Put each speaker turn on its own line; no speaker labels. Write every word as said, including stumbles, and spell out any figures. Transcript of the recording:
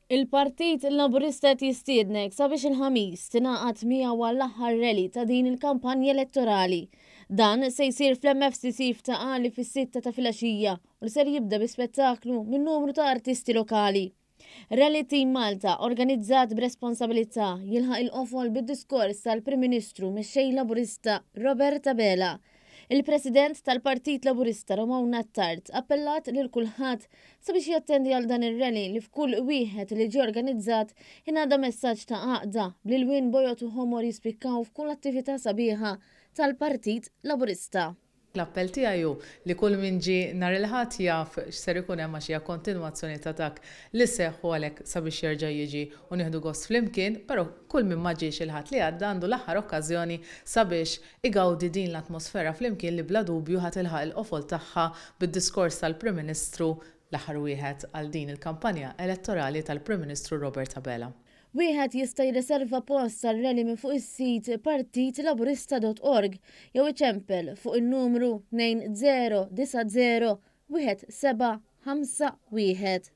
Il-Partit Laburista qed jistiednek sabiex il-Ħamis tingħaqad miegħu għall-aħħar rally ta' din il-kampanja elettorali. Dan se jsir fl-M F C C f'Ta' Qali fis-sitta ta' filgħaxija u li ser jibda bi spettaklu minn numru ta' artisti lokali. Rally Team Malta, organizzat b'responsabilità, jilħaq il-qofol bid-diskors tal-Prim Ministru Mexxej Laburista Robert Abela. Il-President tal-Partit Laburista Romona Attard appellat lil kulħadd sabiex jattendi għal dan ir-rally li f'kull wieħed li ġie organizzat ingħadda messaġġ ta' għaqda bl-ilwien bojod u ħomor jispikkaw f'kull attività sabiħa tal-Partit Laburista.
L-appell tiegħi hu li kull min ġie nhar il-Ħadd jaf x'ser ikun hemm, għax hija kontinwazzjoni ta' dak li seħħ, u għalhekk sabiex jerġa' jiġi u nieħdu gost flimkien, però kull min ma ġiex il-Ħadd li għadda għandu l-aħħar okkażjoni sabiex igawdi din l-atmosfera flimkien li bla dubju ħa tilħaq il-qofol tagħha bid-diskors tal-Prim Ministru, l-aħħar wieħed għal din il-kampanja elettorali tal-Prim Ministru Robert Abela.
Wieħed jista' jirriserva post għar-rally minn fuq is-sit partitlaburista punt org jew iċempel fuq in-numru tnejn zero disa' zero wieħed seba' ħamsa wieħed.